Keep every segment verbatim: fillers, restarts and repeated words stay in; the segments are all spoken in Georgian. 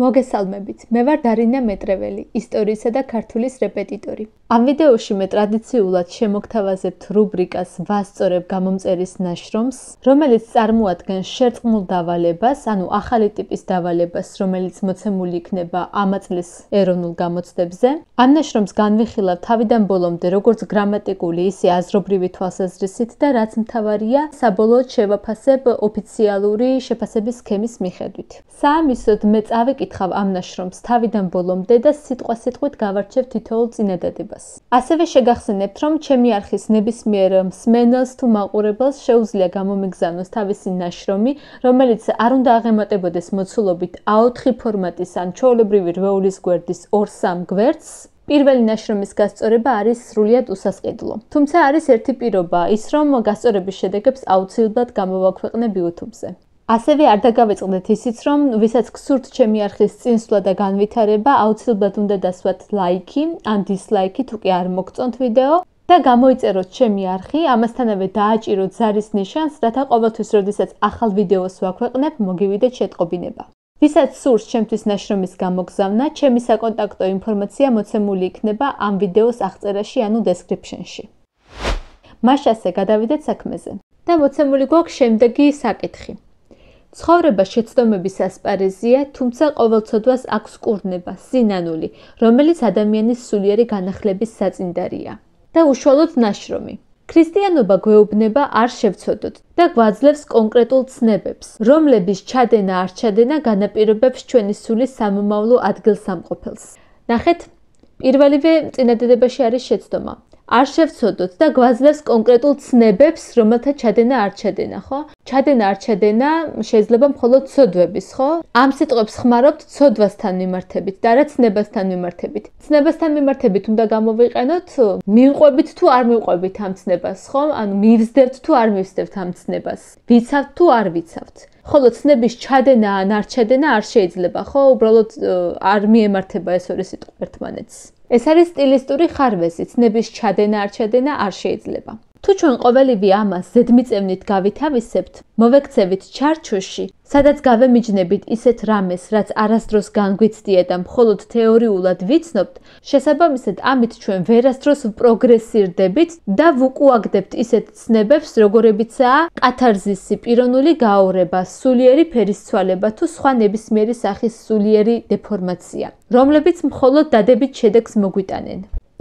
მოგესალმებით, მე ვარ დარინა მეტრეველი, ისტორიისა და ქართულის რეპეტიტორი. Ამ ვიდეოში მე ტრადიციულად შემოგთავაზებთ რუბრიკას ვასწორებ გამომწერის ნაშრომს, რომელიც წარმოადგენს შერწყმულ დავალებას, ანუ ახალი ტიპის დავალებას, რომელიც მოცემული იქნება ამ წლის ეროვნულ გამოცდებზე. Ამ ნაშრომს განვიხილავ თავიდან ბოლომდე როგორც გრამატიკული, ისე აზრობრივი თვალსაზრისით და რაც მთავარია, საბოლოოდ შევაფასებ ოფიციალური შეფასების სქემის მიხედვით. საამისოდ მე წავიკითხავ ამ ნაშრომს თავიდან ბოლომდე და სიტყვა-სიტყვით გავარჩევ თითოეულ წინადადებას. ასევე შეგახსენებთ, რომ ჩემი არხის ნებისმიერ მსმენელს თუ მაყურებელს შეუძლია გამომიგზავნოს თავისი ნაშრომი, რომელიც არ უნდა აღემატებოდეს მოცულობით A ოთხი ფორმატის ან ჩვეულებრივი რვეულის გვერდის ორ სამ გვერდს. პირველი ნაშრომის გასწორება არის სრულიად უსასყიდლო. თუმცა არის ერთი პირობა, ის რომ გასწორების შედეგებს აუცილებლად გამოვაქვეყნებ YouTube-ზე. ასევე არ დაგავიწყდეთ ისიც, რომ ვისაც გსურთ ჩემი არხის წინსვლა და განვითარება, აუცილებლად უნდა დასვათ ლაიქი ან დისლაიქი, თუ კი არ მოგწონთ ვიდეო და გამოიწეროთ ჩემი არხი, ამასთანავე დააჭიროთ ზარის ნიშანს, რათა ყოველთვის, როდესაც ახალ ვიდეოს ვაქვეყნებ, მოგივიდეთ შეტყობინება. ვისაც სურს ჩემთვის ნაშრომის გამოგზავნა, ჩემი საკონტაქტო ინფორმაცია მოცემული იქნება ამ ვიდეოს აღწერაში, ანუ description-ში. მაშასე გადავიდეთ საქმეზე. და მოცემული გვაქვს შემდეგი საკითხი. ცხოვრება შეცდომების ასპარეზია, თუმცა ყოველწოდვას აქვს კურნება, სინანული, რომელიც ადამიანის სულიერი განახლების საწინდარია. და უშუალოდ ნაშრომი. ქრისტიანობა გვეუბნება არ შევცოდოთ და გვაძლევს კონკრეტულ ცნებებს, რომლების ჩადენა არ ჩადენა განაპირობებს ჩვენი სულის სამომავლო ადგილსამყოფელს. ნახეთ, პირველივე წინადადებაში არის შეცდომა. არ შევცოდოთ და გვაძლევს კონკრეტულ ცნებებს, რომელთა ჩადენა არ ჩადენა, ხო? ჩადენა არ ჩადენა შეიძლება მხოლოდ ცოდვების, ხო? ამ სიტყვებს ხმარობთ ცოდვასთან მიმართებით და რა ცნებასთან მიმართებით. ცნებასთან მიმართებით უნდა გამოვიყენოთ, მივყვებით თუ არ მივყვებით ამ ცნებას, ხო? ანუ მივსდევთ თუ არ მივსდევთ ამ ცნებას. ვიცავთ თუ არ ვიცავთ. ხოლო ცნების ჩადენა ან არ ჩადენა არ შეიძლება, ხო? უბრალოდ არ მიემართება ეს ორი სიტყვა ერთმანეთს. ეს არის სტილისტური ხარვეზი, ცნების ჩადენა არ ჩადენა არ შეიძლება. თუ ჩვენ ყოველივე ამას ზედმიწევნით გავითავისებთ, მოვექცევით ჩარჩოში, სადაც გავემიჯნებით ისეთ რამეს, რაც არასდროს განგვიცდია და მხოლოდ თეორიულად ვიცნობთ, შესაბამისად ამით ჩვენ ვერასდროს პროგრესირდებით და ვუკუაგდებთ ისეთ ცნებებს, როგორებიცაა კათარზისი, პიროვნული გაორება, სულიერი ფერისცვალება თუ სხვა ნებისმიერი სახის სულიერი დეფორმაცია, რომლებიც მხოლოდ დადებით შედეგს მოგვიტანენ.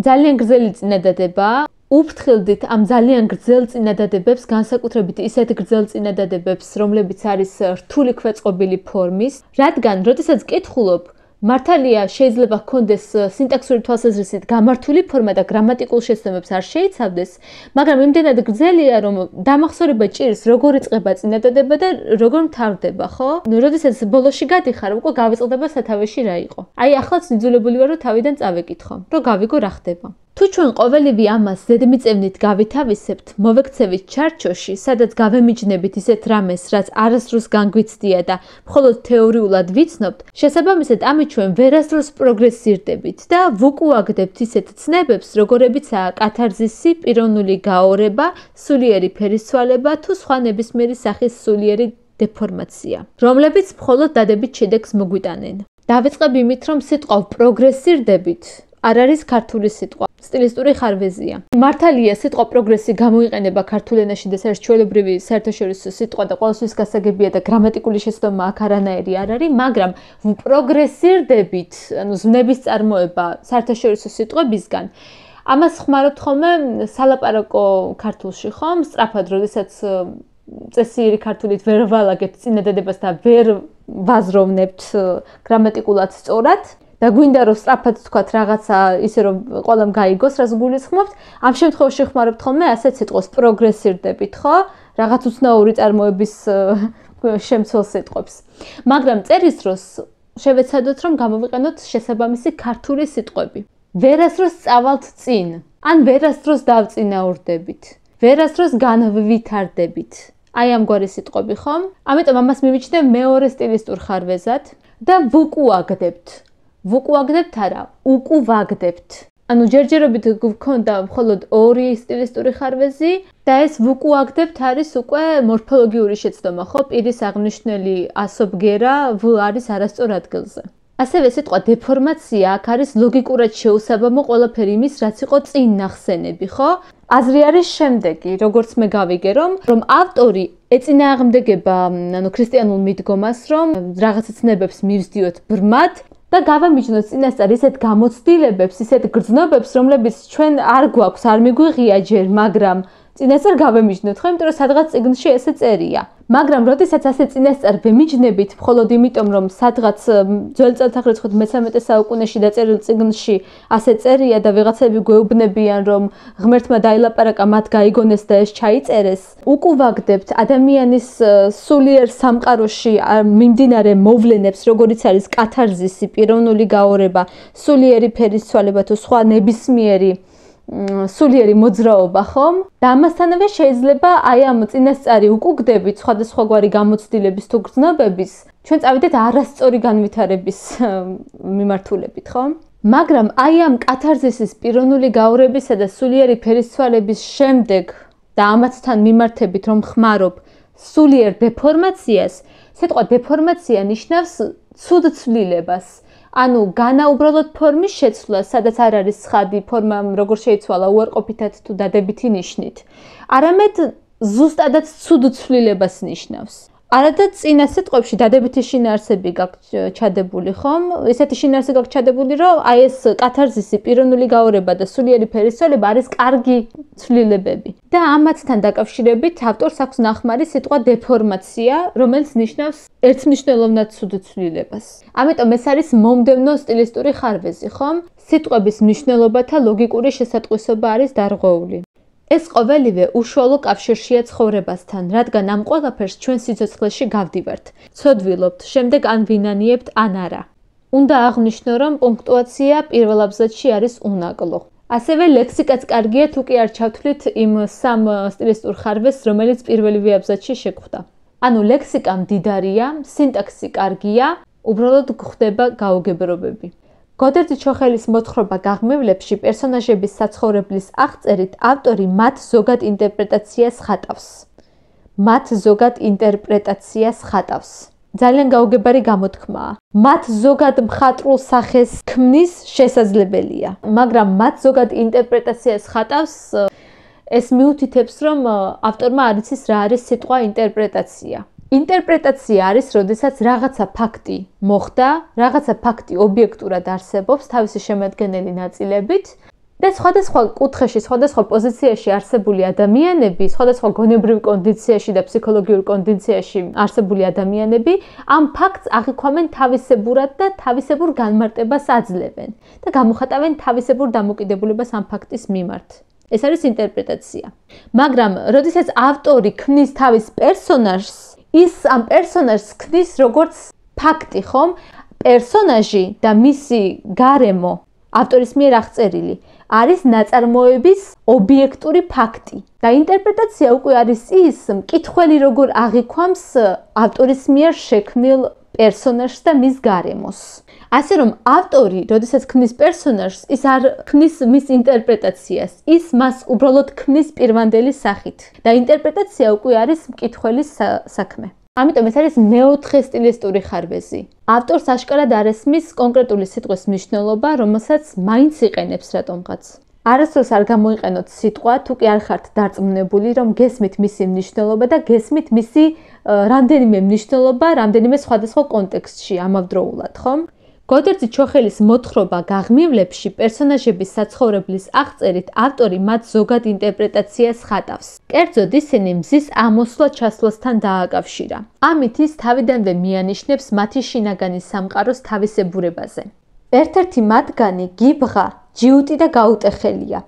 ძალიან გრძელი წინადადებაა. უფრთხილდით ამ ძალიან გრძელ წინადადებებს, განსაკუთრებით ისეთ გრძელ წინადადებებს, რომლებიც არის რთული ქვეწყობილი ფორმის, რადგან, როდესაც კითხულობ, მართალია შეიძლება ჰქონდეს სინტაქსური თვალსაზრისით გამართული ფორმა და გრამატიკულ შეცდომებს არ შეიცავდეს, მაგრამ იმდენად გრძელია, რომ დამახსოვრება ჭირს, როგორ იწყება წინადადება და როგორ მთავრდება, ხო? როდესაც ბოლოში გადიხარ, უკვე გავიწყდება სათავეში რა იყო. აი, ახლაც იძულებული ვარ, რომ თავიდან წავეკითხო, რომ გავიგო რა ხდება. თუ ჩვენ ყოველივე ამას ზედმიწევნით გავითავისებთ, მოვექცევით ჩარჩოში, სადაც გავემიჯნებით ისეთ რამეს, რაც არასდროს განგვიცდია და მხოლოდ თეორიულად ვიცნობთ, შესაბამისად ამით ჩვენ ვერასდროს პროგრესირდებით და ვუკუაგდებთ ისეთ ცნებებს, როგორებიცაა კათარზისი, პიროვნული გაორება, სულიერი ფერისცვალება თუ სხვა ნებისმიერი სახის სულიერი დეფორმაცია, რომლებიც მხოლოდ დადებით შედეგს მოგვიტანენ. დავიწყებ იმით, რომ სიტყვა პროგრესირდებით არ არის ქართული სიტყვა. სტილისტური ხარვეზია. მართალია, სიტყვა პროგრესი გამოიყენება ქართულ ენაში და ეს ჩვეულებრივი საერთაშორისო სიტყვა და ყოველთვის გასაგებია და გრამატიკული შეცდომა აქ არანაირი არ არის, მაგრამ პროგრესირდებით, ანუ ზნების წარმოება საერთაშორისო სიტყვებისგან, ამას ხმარობთ ხოლმე სალაპარაკო ქართულში, ხომ? სწრაფად, როდესაც წესიერი ქართულით ვერ ვალაგებთ წინადადებას და ვერ ვაზროვნებთ გრამატიკულად სწორად. და გვინდა რომ სწრაფად თქვათ რაღაცა ისე რომ ყველამ გაიგოს, რას გულისხმობთ, ამ შემთხვევაში ხმარობთ ხოლმე ასეთ სიტყვას პროგრესირდებით, ხო? რაღაც უცნაური წარმოების შემცველ სიტყვებს. მაგრამ წერის დროს შევეცადოთ რომ გამოვიყენოთ შესაბამისი ქართული სიტყვები. ვერასდროს წავალთ წინ, ან ვერასდროს დავწინაურდებით, ვერასდროს განვითარდებით. აი ამგვარი სიტყვები, ხომ? ამიტომ ამას მივიჩნევ მეორე სტილისტურ ხარვეზად და ვუკუაგდებთ. ვუკუაგდებთ არა, უკუვაგდებთ. ანუ ჯერჯერობით გქონდა მხოლოდ ორი სტილისტური ხარვეზი და ეს ვუკუაგდებთ არის უკვე მორფოლოგიური შეცდომა, ხო? პირის აღნიშნული ასობგერა ვ არის არასწორ ადგილზე. ასევე სიტყვა დეფორმაცია აქ არის ლოგიკურად შეუსაბამო ყველაფერი იმის, რაც იყო წინ ნახსენები, ხო? აზრი არის შემდეგი, როგორც მე გავიგე, რომ რომ ავტორი ეწინააღმდეგება, ანუ ქრისტიანულ მიდგომას, რომ რაღაცა ცნებებს მივსდიოთ ბრმად და გავამიჯნოთ წინასწარ ისეთ გამოცდილებებს, ისეთ გრძნობებს, რომლებიც ჩვენ არ გვაქვს, არ მიგვიღია ჯერ, მაგრამ წინასწარ გავემიჯნოთ, ხო, იმიტომ რომ სადღაც წიგნში ესე წერია. მაგრამ როდესაც ასე წინასწარ ვემიჯნებით, მხოლოდ იმიტომ, რომ სადღაც ძველი წელთაღრიცხვის მესამეტე საუკუნეში დაწერილ წიგნში ასე წერია და ვიღაცები გვეუბნებიან, რომ ღმერთმა დაილაპარაკა, მათ გაიგონეს და ეს ჩაიწერეს, უკუვაგდებთ ადამიანის სულიერ სამყაროში მიმდინარე მოვლენებს, როგორიც არის კათარზისი, პიროვნული გაორება, სულიერი ფერისცვალება თუ სხვა ნებისმიერი სულიერი მოძრაობა, ხომ? და ამასთანავე შეიძლება აი ამ წინასწარი უკუგდებით სხვადასხვაგვარი გამოცდილების თუ გრძნობების ჩვენ წავიდეთ არასწორი განვითარების მიმართულებით, ხომ? მაგრამ აი ამ კათარზისის პიროვნული გაორებისა და სულიერი ფერისცვალების შემდეგ და ამათთან მიმართებით რომ ხმარობ სულიერ დეფორმაციას, სიტყვა დეფორმაცია ნიშნავს ცუდ ცვლილებას. ანუ განა უბრალოდ ფორმის შეცვლა, სადაც არ არის ცხადი ფორმა, როგორ შეიცვალა უარყოფითად თუ დადებითი ნიშნით. არამედ ზუსტადაც ცუდ ცვლილებას ნიშნავს. არადა წინა სიტყვებში დადებითი შინაარსები გაქვს ჩადებული, ხომ? ისეთი შინაარსი გაქვს ჩადებული, რომ აი ეს კათარზისი, პიროვნული გაორება და სულიერი ფერისცვალება არის კარგი ცვლილებები. და ამათთან დაკავშირებით ავტორს აქვს ნახმარი სიტყვა დეფორმაცია, რომელიც ნიშნავს ერთმნიშვნელოვნად ცუდ ცვლილებას. ამიტომ ეს არის მომდევნო სტილისტური ხარვეზი, ხომ? სიტყვების მნიშვნელობათა ლოგიკური შესატყვისობა არის დარღვეული. ეს ყოველივე უშუალო კავშირშია ცხოვრებასთან, რადგან ამ ყველაფერს ჩვენ სიცოცხლეში გავდივართ, ცოდვილობთ, შემდეგ ან ვინანიებთ, ან არა. უნდა აღვნიშნო, რომ პუნქტუაცია პირველ აბზაცში არის უნაკლო. ასევე ლექსიკაც კარგია, თუ კი არ ჩავთვლით იმ სამ სტილისტურ ხარვეზს, რომელიც პირველივე აბზაცში შეგვხვდა. ანუ ლექსიკა მდიდარია, სინტაქსი კარგია, უბრალოდ გვხვდება გაუგებრობები. გოდერძი ჩოხელის მოთხრობა გაღმევლებში პერსონაჟების საცხოვრებლის აღწერით ავტორი მათ ზოგად ინტერპრეტაციას ხატავს. მათ ზოგად ინტერპრეტაციას ხატავს. ძალიან გაუგებარი გამოთქმაა. მათ ზოგად მხატვრულ სახეს ქმნის შესაძლებელია, მაგრამ მათ ზოგად ინტერპრეტაციას ხატავს ეს მიუთითებს, რომ ავტორმა არ იცის რა არის სიტყვა ინტერპრეტაცია. ინტერპრეტაცია არის, როდესაც რაღაცა ფაქტი მოხდა, რაღაცა ფაქტი ობიექტურად არსებობს თავისი შემადგენელი ნაწილებით და სხვადასხვა კუთხეში, სხვადასხვა პოზიციაში არსებული ადამიანები, სხვადასხვა გონებრივ კონდიციაში და ფსიქოლოგიურ კონდიციაში არსებული ადამიანები ამ ფაქტს აღიქვამენ თავისებურად და თავისებურ განმარტებას აძლევენ და გამოხატავენ თავისებურ დამოკიდებულებას ამ ფაქტის მიმართ. ეს არის ინტერპრეტაცია. მაგრამ, როდესაც ავტორი ქმნის თავის პერსონაჟს, ის ამ პერსონაჟს ქმნის როგორც ფაქტი, ხომ? პერსონაჟი და მისი გარემო, ავტორის მიერ აღწერილი, არის ნაწარმოების ობიექტური ფაქტი. და ინტერპრეტაცია უკვე არის ის, მკითხველი როგორ აღიქვამს ავტორის მიერ შექმნილ პერსონაჟს და მის გარემოს. ასე რომ ავტორი, როდესაც ქმნის პერსონაჟს, ის არ ქმნის მის ინტერპრეტაციას, ის მას უბრალოდ ქმნის პირვანდელი სახით. და ინტერპრეტაცია უკვე არის მკითხველის საქმე. ამიტომ ეს არის მეოთხე სტილისტური ხარვეზი. ავტორს აშკარად არ ესმის კონკრეტული სიტყვის მნიშვნელობა, რომელსაც მაინც იყენებს რატომღაც. არასდროს არ გამოიყენოთ სიტყვა, თუ კი არ ხართ დარწმუნებული, რომ გესმით მისი მნიშვნელობა და გესმით მისი რამდენიმე მნიშვნელობა, რამდენიმე სხვადასხვა კონტექსტში ამავდროულად, ხომ? გოდერძი ჩოხელის მოთხრობა გაღმივლებში პერსონაჟების საცხოვრებლის აღწერით ავტორი მათ ზოგად ინტერპრეტაციას ხატავს. კერძოდ ისინი მზის ამოსვლა-ჩასვლასთან დააკავშირა. ამით ის თავიდანვე მიანიშნებს მათი შინაგანი სამყაროს თავისებურებაზე. ერთ-ერთი მათგანი გიბღა, ჯიუტი და გაუტეხელია.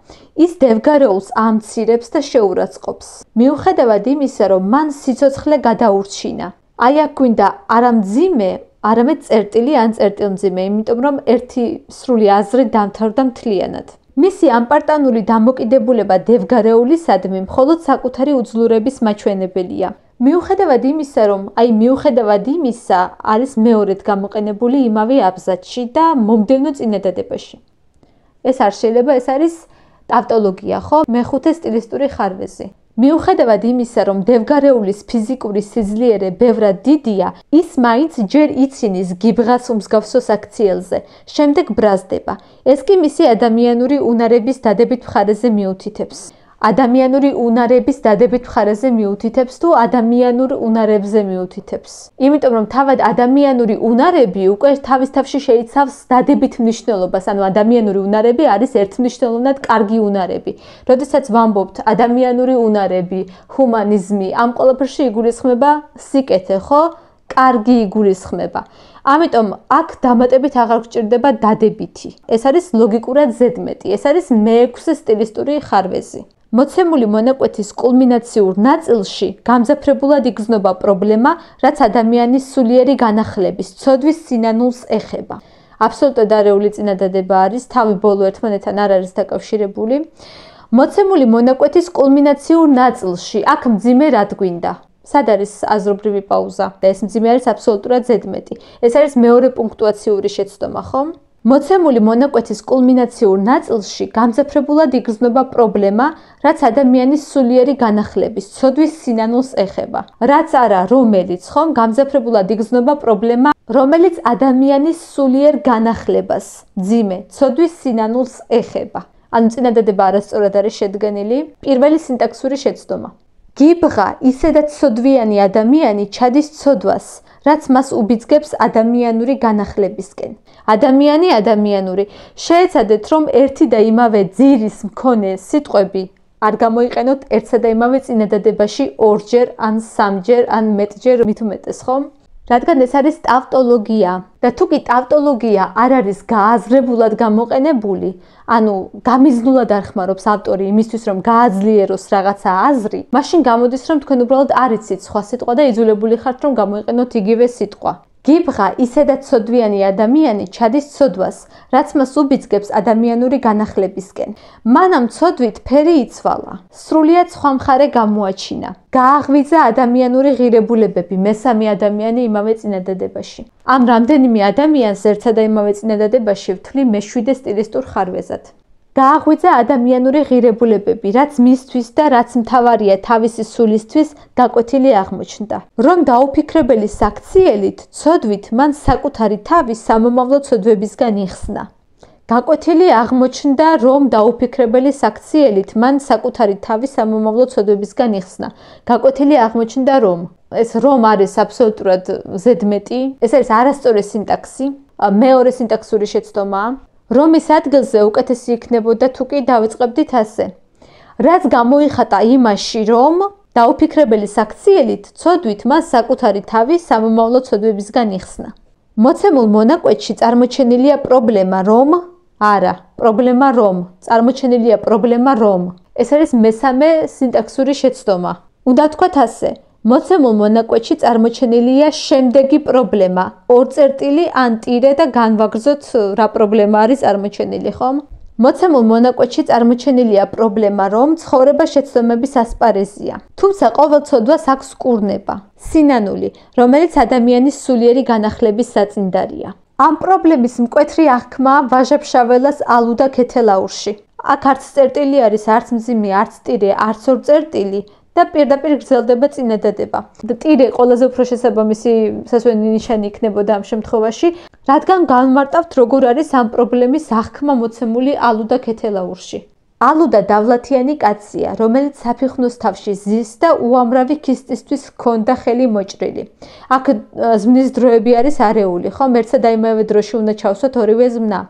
ის დევგარეულს ამცირებს და შეურაცხყოფს. მიუხედავად იმისა, რომ მან სიცოცხლე გადაურჩინა. აი აქ გვინდა არა მძიმე, არამედ წერტილი ან წერტილმძიმე, იმიტომ რომ ერთი სრული აზრი დამთავრდა მთლიანად. მისი ამპარტანული დამოკიდებულება დევგარეულისადმი მხოლოდ საკუთარი უძლურების მაჩვენებელია. მიუხედავად იმისა, რომ აი მიუხედავად იმისა არის მეორედ გამოყენებული იმავე აბზაცში და მომდევნო წინადადებაში. ეს არ შეიძლება, ეს არის ტავტოლოგია, ხო? მეხუთე სტილისტური ხარვეზი. მიუხედავად იმისა, რომ დევგარეულის ფიზიკური სიძლიერე ბევრად დიდია, ის მაინც ჯერ იცინის გიბღას უმსგავსო საქციელზე, შემდეგ ბრაზდება. ეს კი მისი ადამიანური უნარების დადებით მხარეზე მიუთითებს. ადამიანური უნარების დადებით მხარეზე მიუთითებს თუ ადამიანურ უნარებზე მიუთითებს. იმიტომ რომ თავად ადამიანური უნარები უკვე თავის თავში შეიცავს დადებით მნიშვნელობას, ანუ ადამიანური უნარები არის ერთმნიშვნელოვნად კარგი უნარები. როდესაც ვამბობთ ადამიანური უნარები, ჰუმანიზმი, ამ ყველაფერში იგულისხმება სიკეთე, ხო? კარგი იგულისხმება. ამიტომ აქ დამატებით აღარ გჭირდება დადებითი. ეს არის ლოგიკურად ზედმეტი, ეს არის მეექვსე სტილისტური ხარვეზი. მოცემული მონაკვეთის კულმინაციურ ნაწილში გამძაფრებულად იგრძნობა პრობლემა, რაც ადამიანის სულიერი განახლების, ცოდვის სინანულს ეხება. აბსოლუტურად არეული წინადადება არის, თავი ბოლო ერთმანეთთან არ არის დაკავშირებული. მოცემული მონაკვეთის კულმინაციურ ნაწილში, აქ მძიმე რად გვინდა? სად არის აზრობრივი პაუზა? და ეს მძიმე არის აბსოლუტურად ზედმეტი. ეს არის მეორე პუნქტუაციური შეცდომა, ხო? მოცემული მონაკვეთის კულმინაციურ ნაწილში გამძაფრებულად იგრძნობა პრობლემა, რაც ადამიანის სულიერი განახლების, ცოდვის სინანულს ეხება. რაც არა, რომელიც, ხომ, გამძაფრებულად იგრძნობა პრობლემა, რომელიც ადამიანის სულიერ განახლებას, მძიმე, ცოდვის სინანულს ეხება. ანუ წინადადება არასწორად არის შედგენილი. პირველი სინტაქსური შეცდომა. გიბღა ისედაც ცოდვიანი ადამიანი ჩადის ცოდვას, რაც მას უბიძგებს ადამიანური განახლებისკენ. ადამიანი ადამიანური. შეეცადეთ, რომ ერთი და იმავე ძირის მქონე სიტყვები არ გამოიყენოთ ერთსა და იმავე წინადადებაში ორჯერ, ან სამჯერ, ან მეტჯერ, მით უმეტეს, ხომ? რადგან ეს არის ტავტოლოგია და თუ კი ტავტოლოგია არ არის გააზრებულად გამოყენებული, ანუ გამიზნულად არ ხმარობს ავტორი იმისთვის, რომ გააძლიეროს რაღაცა აზრი, მაშინ გამოდის, რომ თქვენ უბრალოდ არ იცით სხვა სიტყვა და იძულებული ხართ, რომ გამოიყენოთ იგივე სიტყვა. გიბღა ისედაც ცოდვიანი ადამიანი ჩადის ცოდვას, რაც მას უბიძგებს ადამიანური განახლებისკენ. მანამ ცოდვით ფერი იცვალა, სრულიად სხვა მხარე გამოაჩინა. გააღვიძა ადამიანური ღირებულებები, მესამე ადამიანი იმავე წინადადებაში. ამ რამდენიმე ადამიანს ერთსა და იმავე წინადადებაში ვთვლი მეშვიდე სტილისტურ ხარვეზად. გააღვიძა ადამიანური ღირებულებები, რაც მისთვის და რაც მთავარია თავისი სულისთვის გაკვეთილი აღმოჩნდა. რომ დაუფიქრებელი საქციელით, ცოდვით მან საკუთარი თავი სამომავლო ცოდვებისგან იხსნა. გაკვეთილი აღმოჩნდა, რომ დაუფიქრებელი საქციელით მან საკუთარი თავი სამომავლო ცოდვებისგან იხსნა. გაკვეთილი აღმოჩნდა, რომ ეს რომ არის აბსოლუტურად ზედმეტი, ეს არის არასწორი სინტაქსი, მეორე სინტაქსური შეცდომაა. რომის ადგილზე უკეთესი იქნებოდა თუ კი დავიწყებდით ასე. რაც გამოიხატა იმაში, რომ დაუფიქრებელი საქციელით, ცოდვით მას საკუთარი თავი სამომავლო ცოდვებისგან იხსნა. მოცემულ მონაკვეთში წარმოჩენილია პრობლემა, რომ არა, პრობლემა რომ, წარმოჩენილია პრობლემა რომ. ეს არის მესამე სინტაქსური შეცდომა. უნდა თქვათ ასე. მოცემულ მონაკვეთში წარმოჩენილია შემდეგი პრობლემა. ორ წერტილი ან ტირე და განვაგრძოთ რა პრობლემა არის წარმოჩენილი, ხომ? მოცემულ მონაკვეთში წარმოჩენილია პრობლემა, რომ ცხოვრება შეცდომების ასპარეზია. თუმცა ყოველ ცოდვას აქვს კურნება, სინანული, რომელიც ადამიანის სულიერი განახლების საწინდარია. ამ პრობლემის მკვეთრი აღქმა ვაჟა-ფშაველას ალუდა ქეთელაურში. აქ არც წერტილი არის, არც მძიმე, არც ტირე, არც ორ წერტილი. და პირდაპირ გრძელდება წინადადება. და ტირე ყველაზე უფრო შესაბამისი სასვენი ნიშანი იქნებოდა ამ შემთხვევაში, რადგან განმარტავთ, როგორ არის ამ პრობლემის აღქმა მოცემული ალუდა ქეთელაურში. ალუდა დავლათიანი კაცია, რომელიც საფიხნოს თავში ზის და უამრავი ქისტისთვის ჰქონდა ხელი მოჭრილი. აქ ზმნის დროები არის არეული, ხომ? ერთსა და იმავე დროში უნდა ჩავსვათ ორივე ზმნა.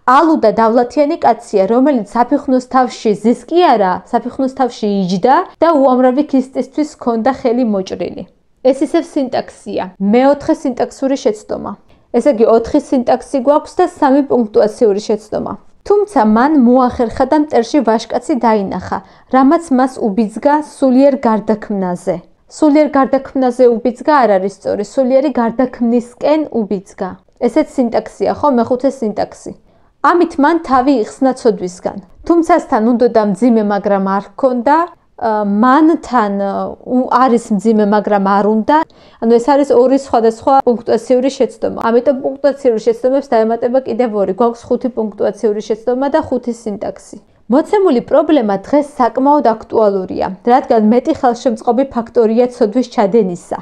ალუდა დავლათიანი კაცია, რომელიც საფიხნოს თავში ზის კი არა, საფიხნოს თავში იჯდა და უამრავი ქისტისთვის ჰქონდა ხელი მოჭრილი. ეს ისევ სინტაქსია. მეოთხე სინტაქსური შეცდომა. ესე იგი, ოთხი სინტაქსი გვაქვს და სამი პუნქტუაციური შეცდომა. თუმცა მან მოახერხა და მტერში ვაჟკაცი დაინახა, რამაც მას უბიძგა სულიერ გარდაქმნაზე. სულიერ გარდაქმნაზე უბიძგა არ არის სწორი, სულიერი გარდაქმნისკენ უბიძგა. ესეც სინტაქსია, ხო, მეხუთე სინტაქსი. ამით მან თავი იხსნა ცოდვისგან. თუმცა თან უნდა მძიმე, მაგრამ არ ჰქონდა, მანთან არის მძიმე, მაგრამ არ უნდა. ანუ ეს არის ორი სხვადასხვა პუნქტუაციური შეცდომა. ამიტომ პუნქტუაციური შეცდომებს დაემატება კიდევ ორი. გვაქვს ხუთი პუნქტუაციური შეცდომა და ხუთი სინტაქსი. მოცემული პრობლემა დღეს საკმაოდ აქტუალურია, რადგან მეტი ხელშემწყობი ფაქტორია ცოდვის ჩადენისა.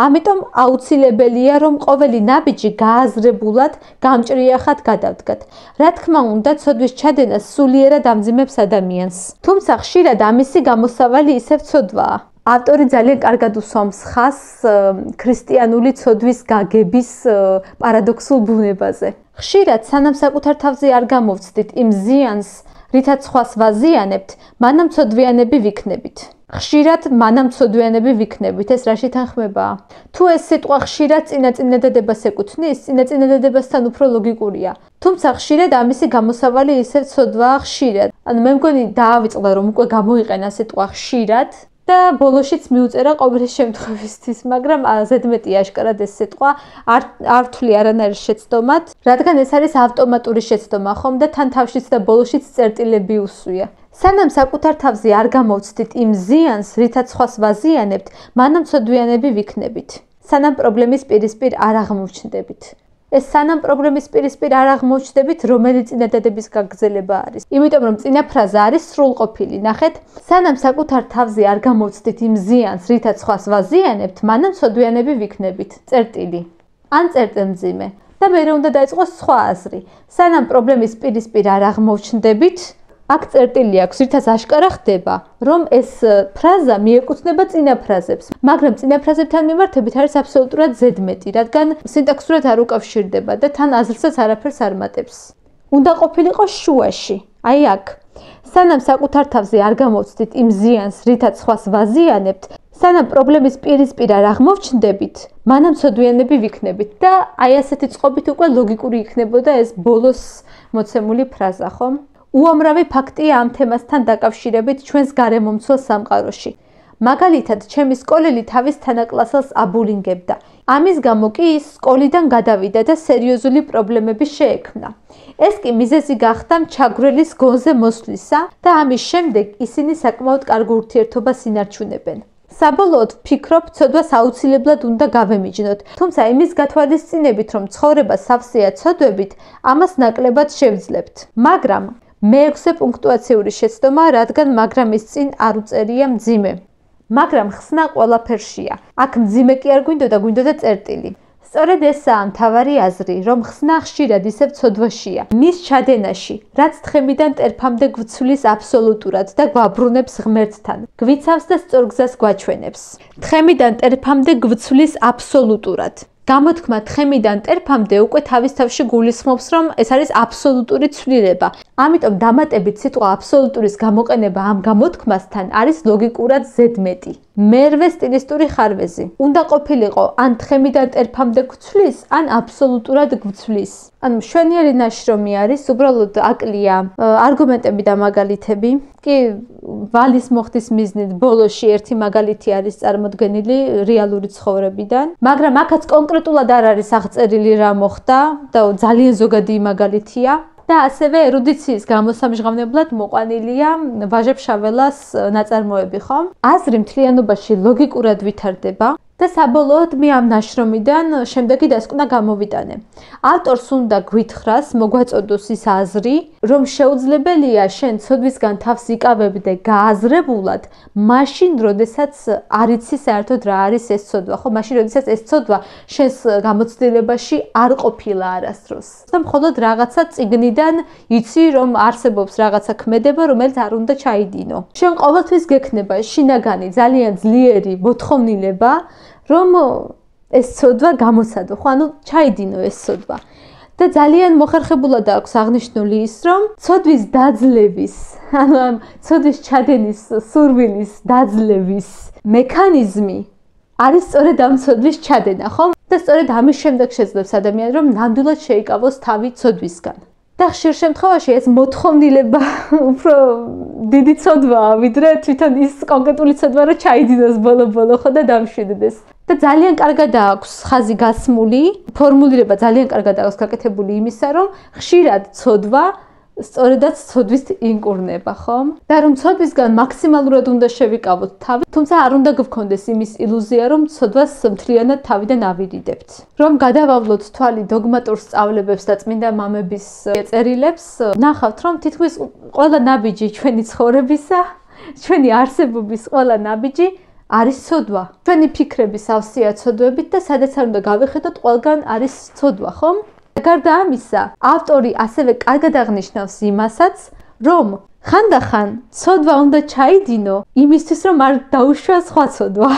ამიტომ აუცილებელია, რომ ყოველი ნაბიჯი გააზრებულად, გამჭრიახად გადავდგათ. რა თქმა უნდა, ცოდვის ჩადენა სულიერად ამძიმებს ადამიანს. თუმცა ხშირად ამისი გამოსავალი ისევ ცოდვაა. ავტორი ძალიან კარგად უსვამს ხაზს ქრისტიანული ცოდვის გაგების პარადოქსულ ბუნებაზე. ხშირად სანამ საკუთარ თავზე არ გამოვცდით იმ ზიანს, რითაც სხვას ვაზიანებთ, მანამ ცოდვიანები ვიქნებით. ხშირად მანამ ცოდვიანები ვიქნებით, ეს რაში თანხმებაა? თუ ეს სიტყვა ხშირად წინაწინადადებას ეკუთვნის, წინაწინადადებასთან უფრო ლოგიკურია. თუმცა ხშირად ამისი გამოსავალი ისევ ცოდვაა ხშირად. ანუ მე მგონი დაავიწყდა, რომ უკვე გამოიყენა სიტყვა ხშირად და ბოლოშიც მიუწერა ყოველი შემთხვევისთვის, მაგრამ ზედმეტი აშკარად ეს სიტყვა არ არ ვთვლი არანაირ შეცდომად, რადგან ეს არის ავტომატური შეცდომა ხომ და თან თავშიც და ბოლოშიც წერტილები უსვია. სანამ საკუთარ თავზე არ გამოვცდით იმ ზიანს, რითაც სხვას ვაზიანებთ, მანამ ცოდვიანები ვიქნებით. სანამ პრობლემის პირისპირ არ აღმოჩნდებით. ეს სანამ პრობლემის პირისპირ არ აღმოჩნდებით, რომელი წინადადების გაგრძელება არის. იმიტომ რომ წინა ფრაზა არის სრულყოფილი. ნახეთ, სანამ საკუთარ თავზე არ გამოვცდით იმ ზიანს, რითაც სხვას ვაზიანებთ, მანამ ცოდვიანები ვიქნებით. წერტილი. ან წერტილმძიმე. და მე უნდა დაიწყოს სხვა აზრი. სანამ პრობლემის პირისპირ არ აღმოჩნდებით, აქ წერტილი აქვს, რითაც აშკარა ხდება, რომ ეს ფრაზა მიეკუთვნება წინა ფრაზებს, მაგრამ წინა ფრაზებთან მიმართებით არის აბსოლუტურად ზედმეტი, რადგან სინტაქსურად არ უკავშირდება და თან აზრსაც არაფერს არ მატებს. უნდა ყოფილიყო შუაში, აი აქ. სანამ საკუთარ თავზე არ გამოვცდით იმ ზიანს, რითაც სხვას ვაზიანებთ, სანამ პრობლემის პირისპირ არ აღმოჩნდებით, მანამ ცოდვიანები ვიქნებით და აი ასეთი წყობით უკვე ლოგიკური იქნებოდა ეს ბოლოს მოცემული ფრაზა, ხომ? უამრავი ფაქტია ამ თემასთან დაკავშირებით ჩვენს გარემომცველ სამყაროში. მაგალითად, ჩემი სკოლელი თავის თანაკლასელს აბულინგებდა. ამის გამო კი ის სკოლიდან გადავიდა და სერიოზული პრობლემები შეექმნა. ეს კი მიზეზი გახდა ჩაგვრელის გონზე მოსვლისა და ამის შემდეგ ისინი საკმაოდ კარგ ურთიერთობას ინარჩუნებენ. საბოლოოდ ვფიქრობ, ცოდვას აუცილებლად უნდა გავემიჯნოთ, თუმცა იმის გათვალისწინებით, რომ ცხოვრება სავსეა ცოდვებით, ამას ნაკლებად შევძლებთ. მაგრამ მეექვსე პუნქტუაციური შეცდომა, რადგან მაგრამის წინ არ უწერია მძიმე. მაგრამ ხსნა ყველაფერშია. აქ მძიმე კი არ გვინდოდა, გვინდოდა წერტილი. სწორედ ესაა მთავარი აზრი, რომ ხსნა ხშირად ისევ ცოდვაშია. მის ჩადენაში, რაც თხემიდან ტერფამდე გვცვლის აბსოლუტურად და გვაბრუნებს ღმერთთან, გვიცავს და სწორ გზას გვაჩვენებს. თხემიდან ტერფამდე გვცვლის აბსოლუტურად. გამოთქმა თხემიდან ტერფამდე უკვე თავის თავში გულისხმობს, რომ ეს არის აბსოლუტური ცვლილება. ამიტომ დამატებით სიტყვა აბსოლუტურის გამოყენება ამ გამოთქმასთან არის ლოგიკურად ზედმეტი. მერვე სტილისტური ხარვეზი. უნდა ყოფილიყო ან თხემიდან ტერფამდე გვცვლის, ან აბსოლუტურად გვცვლის. ანუ მშვენიერი ნაშრომი არის, უბრალოდ აკლია არგუმენტები და მაგალითები. კი ვალის მოხდის მიზნით ბოლოში ერთი მაგალითი არის წარმოდგენილი რეალური ცხოვრებიდან, მაგრამ აქაც კონკრეტულად არ არის აღწერილი რა მოხდა და ძალიან ზოგადი მაგალითია. და ასევე ერუდიციის გამოსამჟღავნებლად მოყვანილია ვაჟებ-შაველას ნაწარმოები, ხომ? აზრი მთლიანობაში ლოგიკურად ვითარდება და საბოლოოდ მე ამ ნაშრომიდან შემდეგი დასკვნა გამოვიტანე. ავტორს უნდა გვითხრას, მოგვაწოდოს ის აზრი, რომ შეუძლებელია შენ ცოდვისგან თავს იკავებდე გააზრებულად, მაშინ, როდესაც არ იცი საერთოდ რა არის ეს ცოდვა, ხო? მაშინ, როდესაც ეს ცოდვა შენს გამოცდილებაში არ ყოფილა არასდროს. და მხოლოდ რაღაცა წიგნიდან იცი, რომ არსებობს რაღაცა ქმედება, რომელიც არ უნდა ჩაიდინო. შენ ყოველთვის გექნება შინაგანი, ძალიან ძლიერი მოთხოვნილება, რომ ეს ცოდვა გამოსადო, ხო, ანუ ჩაიდინო ეს ცოდვა. და ძალიან მოხერხებულად აქვს აღნიშნული ის, რომ ცოდვის დაძლევის, ანუ ამ ცოდვის ჩადენის სურვილის დაძლევის მექანიზმი არის სწორედ ამ ცოდვის ჩადენა, ხო? და სწორედ ამის შემდეგ შეძლებს ადამიანს, რომ ნამდვილად შეიკავოს თავი ცოდვისგან. და ხშირ შემთხვევაში ეს მოთხოვნილება უფრო დიდი ცოდვაა, ვიდრე თვითონ ის კონკრეტული ცოდვა რა ჩაიდინოს ბოლო-ბოლო ხო და დამშვიდდეს. და ძალიან კარგად აქვს ხაზი გასმული, ფორმულირება ძალიან კარგად აქვს გაკეთებული იმისა, რომ ხშირად ცოდვა სწორედაც ცოდვის ინკურნება, ხომ? და რომ ცოდვისგან მაქსიმალურად უნდა შევიკავოთ თავი, თუმცა არ უნდა გქონდეს იმის ილუზია, რომ ცოდვას მთლიანად თავიდან ავირიდებთ. რომ გადავავლოთ თვალი დოგმატურ სწავლებებს და წმინდა მამების წერილებს, ნახავთ, რომ თითქმის ყველა ნაბიჯი ჩვენი ცხოვრებისა, ჩვენი არსებობის ყველა ნაბიჯი არის ცოდვა. ჩვენი ფიქრების ავსია ცოდვებით და სადაც არ უნდა გავიხედოთ, ყველგან არის ცოდვა, ხომ? გარდა ამისა, ავტორი ასევე კარგად აღნიშნავს იმასაც, რომ ხანდახან ცოდვა უნდა ჩაიდინო იმისთვის, რომ არ დაუშვა სხვა ცოდვა.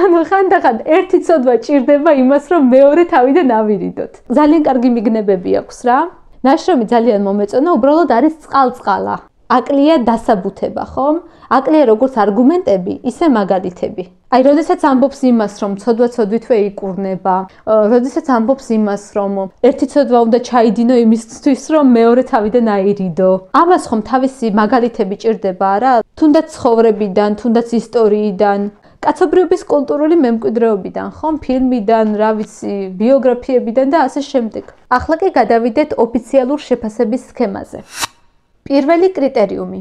ანუ ხანდახან ერთი ცოდვა ჭირდება იმას, რომ მეორე თავიდან ავირიდოთ. ძალიან კარგი მიგნებები აქვს რა. ნაშრომი ძალიან მომეწონა, უბრალოდ არის წყალწყალა. აკლია დასაბუთება, ხომ? აკლია როგორც არგუმენტები, ისე მაგალითები. აი, როდესაც ამბობს იმას, რომ ცოდვა ცოდვითვე იკურნება, როდესაც ამბობს იმას, რომ ერთი ცოდვა უნდა ჩაიდინო იმისთვის, რომ მეორე თავიდან აირიდო. ამას ხომ თავისი მაგალითები ჭირდება, არა? თუნდაც ცხოვრებიდან, თუნდაც ისტორიიდან, კაცობრიობის კულტურული მემკვიდრეობიდან, ხომ? ფილმიდან, რა ვიცი, ბიოგრაფიებიდან და ასე შემდეგ. ახლა კი გადავიდეთ ოფიციალურ შეფასების სქემაზე. პირველი კრიტერიუმი.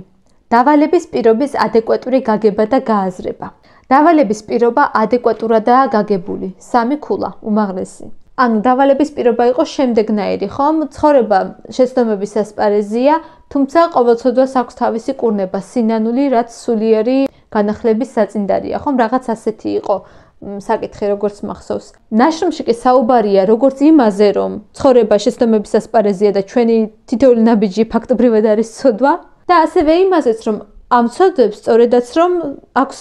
დავალების პირობის ადეკვატური გაგება და გააზრება. დავალების პირობა ადეკვატურადაა გაგებული. სამი ქულა, უმაღლესი. ანუ დავალების პირობა იყო შემდეგნაირი, ხომ? ცხოვრება შეცდომების ასპარეზია, თუმცა ყოველწოდვას აქვს თავისი კურნება, სინანული, რაც სულიერი განახლების საწინდარია, ხომ? რაღაც ასეთი იყო საკითხი, როგორც მახსოვს. ნაშრომში კი საუბარია როგორც იმაზე, რომ ცხოვრება შეცდომების ასპარეზია და ჩვენი თითოეული ნაბიჯი ფაქტობრივად არის ცოდვა და ასევე იმაზეც, რომ ამ ცოდვებს სწორედაც რომ აქვს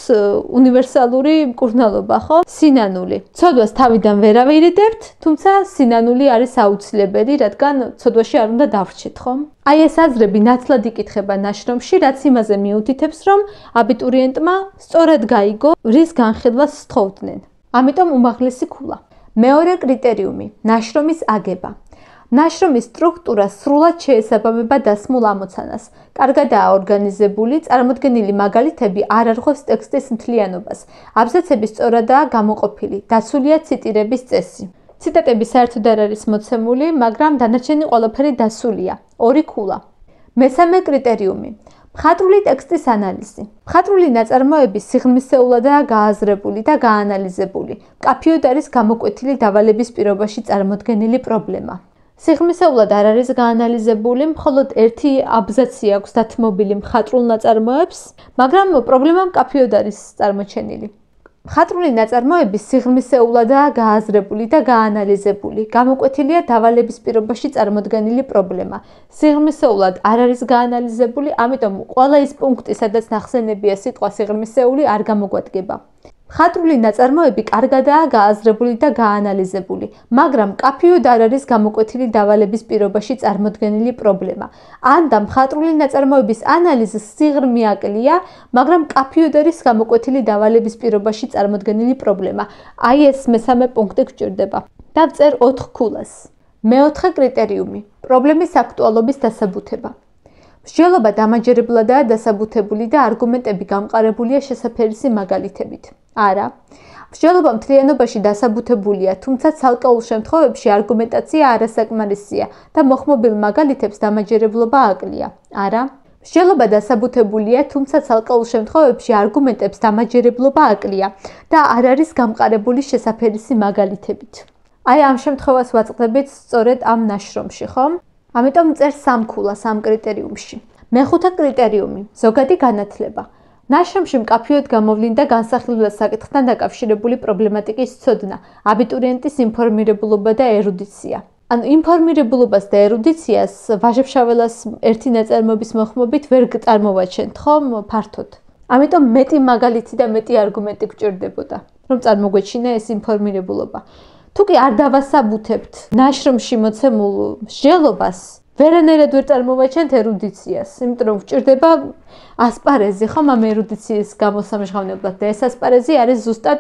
უნივერსალური მკურნალობა, ხო? სინანული. ცოდვას თავიდან ვერ ავირიდებთ, თუმცა სინანული არის აუცილებელი, რადგან ცოდვაში არ უნდა დავრჩეთ, ხომ? აი ეს აზრები ნათლად იკითხება ნაშრომში, რაც იმაზე მიუთითებს, რომ აბიტურიენტმა სწორად გაიგო, რის განხილვას სთხოვდნენ. ამიტომ უმაღლესი ქულა. მეორე კრიტერიუმი, ნაშრომის აგება. ნაშრომის სტრუქტურა სრულად შეესაბამება დასმულ ამოცანას. კარგადაა ორგანიზებული, წარმოდგენილი მაგალითები არ არღვევს ტექსტის მთლიანობას. აბზაცები სწორადაა გამოყოფილი, დაცულია ციტირების წესი. ციტატები საერთოდ არ არის მოცემული, მაგრამ დანარჩენი ყველაფერი დასულია. ორი ქულა. მესამე კრიტერიუმი. მხატვრული ტექსტის ანალიზი. მხატვრული ნაწარმოები სიღრმისეულადაა გააზრებული და გაანალიზებული. მკაფიოდ არის გამოკვეთილი დავალების პირობაში წარმოდგენილი პრობლემა. სიღრმისეულად არ არის გაანალიზებული, მხოლოდ ერთი აბზაცი აქვს დათმობილი მხატვრულ ნაწარმოებს, მაგრამ პრობლემა მკაფიოდ არის წარმოჩენილი. მხატვრული ნაწარმოები სიღრმისეულადაა გააზრებული და გაანალიზებული. გამოკვეთილია დავალების პირობაში წარმოდგენილი პრობლემა. სიღრმისეულად არ არის გაანალიზებული, ამიტომ ყველა ის პუნქტი, სადაც ნახსენებია სიტყვა სიღრმისეული, არ გამოგვადგება. მხატვრული ნაწარმოები კარგადაა გააზრებული და გაანალიზებული, მაგრამ მკაფიოდ არ არის გამოკვეთილი დავალების პირობაში წარმოდგენილი პრობლემა. ან და მხატვრული ნაწარმოების ანალიზი სიღრმე აკლია, მაგრამ მკაფიოდ არის გამოკვეთილი დავალების პირობაში წარმოდგენილი პრობლემა. აი ეს მესამე პუნქტი გვჭირდება. დავწერ ოთხ ქულას. მეოთხე კრიტერიუმი. პრობლემის აქტუალობის დასაბუთება. მსჯელობა დამაჯერებლადაა დასაბუთებული და არგუმენტები გამყარებულია შესაფერისი მაგალითებით. არა. მსჯელობა მთლიანობაში დასაბუთებულია, თუმცა ცალკეულ შემთხვევებში არგუმენტაცია არასაკმარისია და მოხმობილ მაგალითებს დამაჯერებლობა აკლია. არა. მსჯელობა დასაბუთებულია, თუმცა ცალკეულ შემთხვევებში არგუმენტებს დამაჯერებლობა აკლია და არ არის გამყარებული შესაფერისი მაგალითებით. აი ამ შემთხვევას ვაწყდებით სწორედ ამ ნაშრომში, ხომ? ამიტომ წერ სამ ქულას ამ კრიტერიუმში. მეხუთე კრიტერიუმი, ზოგადი განათლება. ნაშრომში მკაფიოდ გამოვლინდა განსახილველ საკითხთან დაკავშირებული პრობლემატიკის ცოდნა, აბიტურიენტის ინფორმირებულობა და ერუდიცია. ანუ ინფორმირებულობას და ერუდიციას ვაჟებ-შაველას ერთი ნაწარმოების მოხმობით ვერ წარმოვაჩენთ, ხომ, ფართოდ. ამიტომ მეტი მაგალითი და მეტი არგუმენტი გჭირდებოდა, რომ წარმოგვეჩინა ეს ინფორმირებულობა. თუ კი არ დავასაბუთებთ ნაშრომში მოცემულ მსჯელობას, ვერანაირად ვერ წარმოვაჩენთ ერუდიციას, იმიტომ რომ გვჭირდება ასპარეზი, ხომ, ამ ერუდიციის გამოსამჟღავნებლად და ეს ასპარეზი არის ზუსტად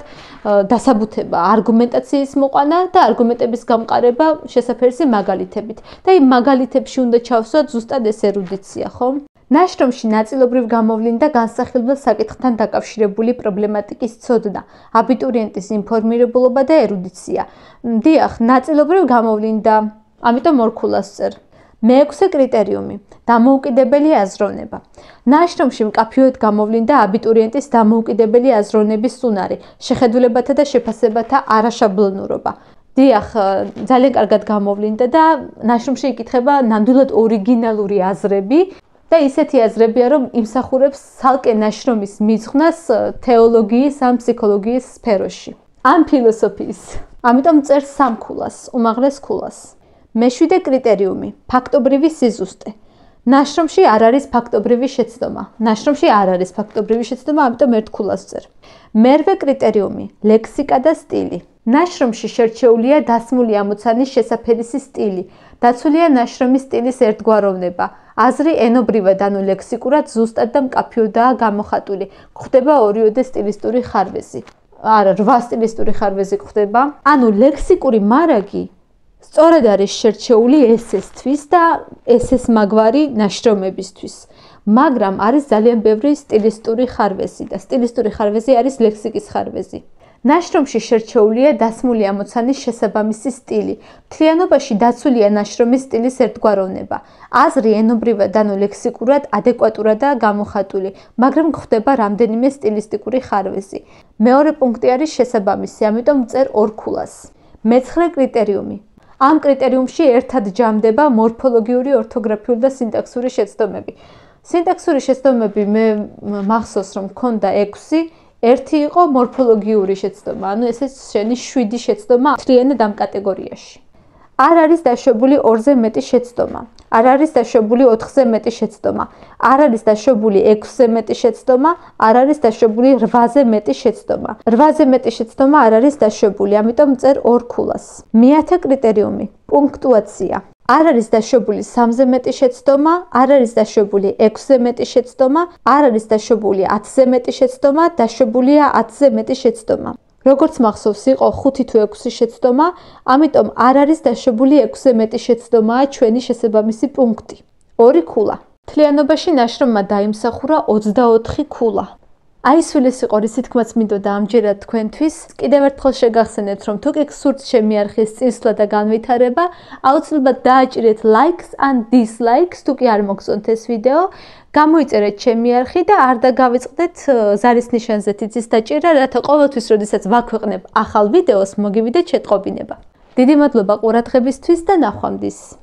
დასაბუთება, არგუმენტაციის მოყვანა და არგუმენტების გამყარება შესაფერისი მაგალითებით. და იმ მაგალითებში უნდა ჩავსვათ ზუსტად ეს ერუდიცია, ხომ? ნაშრომში ნაწილობრივ გამოვლინდა განსახილველ საკითხთან დაკავშირებული პრობლემატიკის ცოდნა, აბიტურიენტის ინფორმირებულობა და ერუდიცია. დიახ, ნაწილობრივ გამოვლინდა, ამიტომ ორ ქულას წერ. მეექვსე კრიტერიუმი დამოუკიდებელი აზროვნება. ნაშრომში მკაფიოდ გამოვლინდა აბიტურიენტის დამოუკიდებელი აზროვნების უნარი, შეხედულებათა და შეფასებათა არაშაბლონურობა. დიახ, ძალიან კარგად გამოვლინდა და ნაშრომში იკითხება ნამდვილად ორიგინალური აზრები და ისეთი აზრებია, რომ იმსახურებს ცალკე ნაშრომის მიძღვნას თეოლოგიის ან ფსიქოლოგიის სფეროში. ან ფილოსოფიის. ამიტომ წერს სამ ქულას, უმაღლეს ქულას. მეშვიდე კრიტერიუმი ფაქტობრივი სიზუსტე. ნაშრომში არ არის ფაქტობრივი შეცდომა. ნაშრომში არ არის ფაქტობრივი შეცდომა, ამიტომ ერთ ქულას წერ. მერვე კრიტერიუმი ლექსიკა და სტილი. ნაშრომში შერჩეულია დასმული ამოცანის შესაფერისი სტილი. დაცულია ნაშრომის სტილის ერთგვაროვნება. აზრი ენობრივად ანუ ლექსიკურად ზუსტად და მკაფიოდაა გამოხატული. გვხდება ორიოდე სტილისტური ხარვეზი. არა, რვა სტილისტური ხარვეზი გვხდება. ანუ ლექსიკური მარაგი სწორედ არის შერჩეული ესესთვის და ესეს მაგვარი ნაშრომებისთვის. მაგრამ არის ძალიან ბევრი სტილისტური ხარვეზი და სტილისტური ხარვეზი არის ლექსიკის ხარვეზი. ნაშრომში შერჩეულია დასმული ამოცანის შესაბამისი სტილი. მთლიანობაში დაცულია ნაშრომის სტილის ერთგვაროვნება. აზრი ენობრივად ანუ ლექსიკურად ადეკვატურადაა გამოხატული, მაგრამ გვხდება რამდენიმე სტილისტიკური ხარვეზი. მეორე პუნქტი არის შესაბამისი, ამიტომ წერ ორ ქულას. მეცხრე კრიტერიუმი. ამ კრიტერიუმში ერთად ჯამდება მორფოლოგიური, ორთოგრაფიული და სინტაქსური შეცდომები. სინტაქსური შეცდომები მე მახსოვს რომ მქონდა ექვსი, ერთი იყო მორფოლოგიური შეცდომა, ანუ ესე შენი შვიდი შეცდომა მთლიანად ამ კატეგორიაში. არ არის დაშვებული ორზე მეტი შეცდომა, არ არის დაშვებული ოთხზე მეტი შეცდომა, არ არის დაშვებული ექვსზე მეტი შეცდომა, არ არის დაშვებული რვაზე მეტი შეცდომა. რვაზე მეტი შეცდომა არ არის დაშვებული, ამიტომ წერ ორ ქულას. მეათე კრიტერიუმი პუნქტუაცია. არ არის დაშვებული სამზე მეტი შეცდომა, არ არის დაშვებული ექვსზე მეტი შეცდომა, არ არის დაშვებული ათზე მეტი შეცდომა, დაშვებულია ათზე მეტი შეცდომა. როგორც მახსოვს, იყო ხუთი თუ ექვსი შეცდომა, ამიტომ არ არის დაშვებული ექვსზე მეტი შეცდომაა ჩვენი შესაბამისი პუნქტი. ორი ქულა. მთლიანობაში ნაშრომმა დაიმსახურა ოცდაოთხი ქულა. აი სულეს იყო რისი თქმაც მინდოდა ამჯერად თქვენთვის. კიდევ ერთხელ შეგახსენებთ, რომ თუ კი გსურთ ჩემი არხის წინსვლა და განვითარება, აუცილებლად დააჭირეთ ლაიქს ან დისლაიქს, თუ კი არ მოგწონთ ეს ვიდეო. გამოიწერეთ ჩემი არხი და არ დაგავიწყდეთ ზარის ნიშანზე თითის დაჭერა, რათა ყოველთვის, როდესაც ვაქვეყნებ ახალ ვიდეოს, მოგივიდეთ შეტყობინება. დიდი მადლობა ყურადღებისთვის და ნახვამდის.